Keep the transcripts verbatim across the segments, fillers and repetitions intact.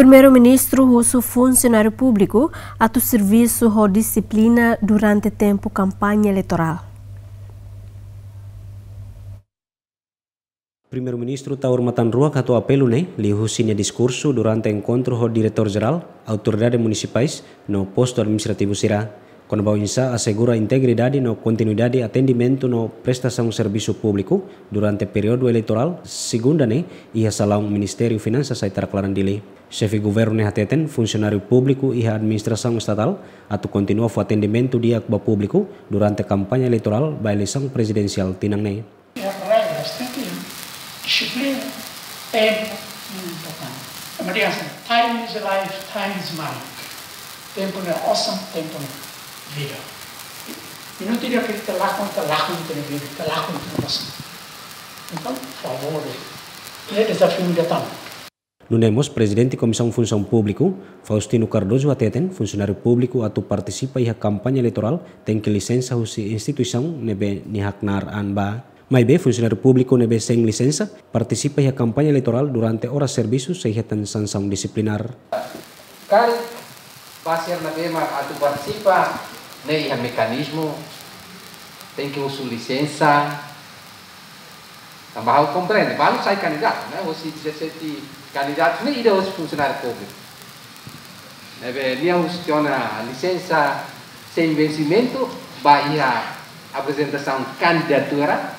Primeiru-Ministru husu funsionáriu públiku atu servisu ho dixiplina durante tempu kampaña eleitorál. Primeiru-Ministru Taur Matan Ruak hato'o apelu ne'e liuhusi nia diskursu durante enkontru ho Diretór Jerál, Autoridade Munisipais no Postu Administrativu sira. Kona-ba oinsá asegura integridade no kontinuidade atendimentu no prestasaun servisu públiku durante períodu eleitorál, segunda ne'e, iha salaun Ministériu Finansas Aitarak Laran Dili. Xefe Governu ne'e hateten funsionáriu públiku iha administrasaun estatál atu kontinua fó atendimentu di'ak ba públiku durante kampaña eleitorál ba eleisaun prezidensiál tinan ne'e. Regras, tenke dixiplina, tempu, importante. Ema dehan, time is life, time is money. Tempu ne'e osan, tempu ne'e vida. Minutu ida ke ita lakon, ita lakon ita-nia vida, ita lakon ita-nia osan. Entaun, favór, ne'e dezafiu ida tan. Nune'e mós Prezidente Komisaun Funsaun Públiku, Faustino Cardoso hateten, funsionáriu públiku atu partisipa iha kampaña eleitorál tenke lisensa husi instituisaun ne'ebé nia haknaar an ba. Maibé funsionáriu públiku ne'ebé sein lisensa partisipa iha kampaña eleitorál durante oras servisu sei hetan sansaun disiplinár. Karik ba sira ne'ebé mak atu partisipa ne'e iha mekanizmu, tenke husu lisensa. Tanba ha'u komprende, balu sai kandidatu, ne'e? Husi dezassete kandidatu ne'e ida husi funsionáriu públiku. Ne'ebé nia husi tiha ona lisensa sein vensimentu ba iha aprezentasaun kandidatura,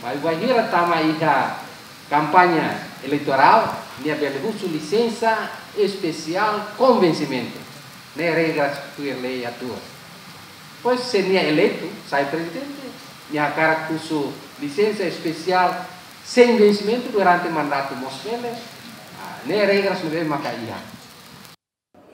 maibé bainhira tama iha kampaña eleitorál, nia bele husu lisensa espesiál com vensimentu. Ne'e regras tuir lei atuál. Pois, se nia eleitu, sai prezidente, nia hakarak husu lisensa espesiál sein vensimentu durante mandatu mós bele, ah, ne'e regras ne'ebé maka iha.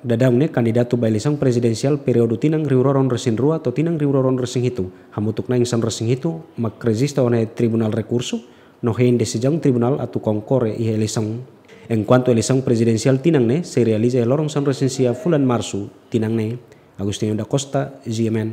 Daudaun ne'e kandidatu ba eleisaun prezidensiál períodu tinan rihun rua ruanulu-resin-rua to'o tinan rihun rua ruanulu-resin-hitu, hamutuk na'in sanulu-resin-hitu, mak rejista ona iha Tribunál Rekursu, no hein desizaun tribunál atu konkorre iha eleisaun. Enkuantu eleisaun prezidensiál tinan ne'e sei realiza iha loron sanulu-resin-sia fulan Marsu tinan ne'e. Agostinho da Costa, G M N.